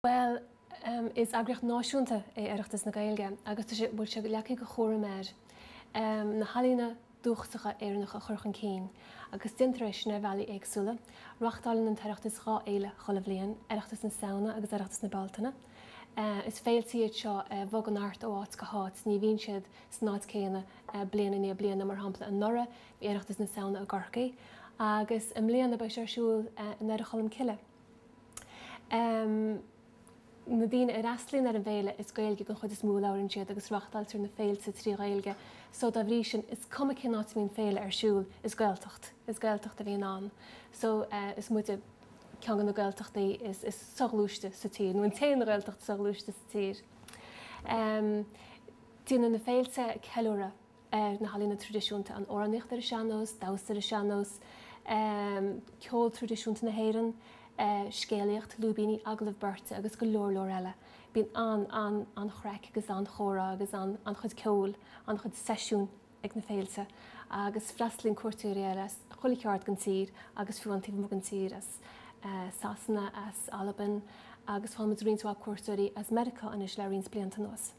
Bhuel, is eagraíocht náisiúnta é Oireachtas na Gaeilge agus tá sé, bhfuil sé leagtha de chúram air na healaíona dúchasacha Éireannacha a chur chun cinn agus déantar é sin ar bhealaí éagsúla. Reáchtálann an tOireachtas 2 fhéile chuile bhliain, Oireachtas na Samhna agus Oireachtas na Bealtaine. Is féilte iad seo a bhogann thart ó áit go háit, ní bhíonn siad san áit céanna bliain i ndiaidh bliana. Mar shampla, anuraidh bhí Oireachtas na Samhna i gCorcaigh agus i mbliana beidh sé ar siúl i nDoire Cholm Cille. Na daoine a fhreastalaíonn ar an bhféile, is Gaeilge den chuid is mó a labhraíonn siad agus reáchtáiltear na féilte trí Ghaeilge so dá bhrí sin is cuma cén áit a mbíonn féile ar siúl, is Gaeltacht, is Gaeltacht a bhíonn ann. So is muide ceann de na Gaeltachtaí is is soghluaiste sa tír, nó an t-aon Ghaeltacht soghluaiste sa tír. Déanann na féilte ceiliúradh. ar na healaíona traidisiúnta, an amhránaíocht ar an sean-nós, damhsa ar an sean-nós, ceol traidisiúnta na hÉireann, scéalaíocht, lúibíní, agallamh beirte agus go leor leor eile. Bíonn an, an, an-chraic agus an-chomhrá agus an, an-chuid ceoil, an-chuid seisiún ag na féilte agus freastalaíonn cuairteoirí air as chuile cheard den tír agus fiú an taobh amuigh den tír, as Sasana, as Albain agus faigheann muid roinnt mhaith cuairteoirí as Meiriceá anois le roinnt blianta anuas.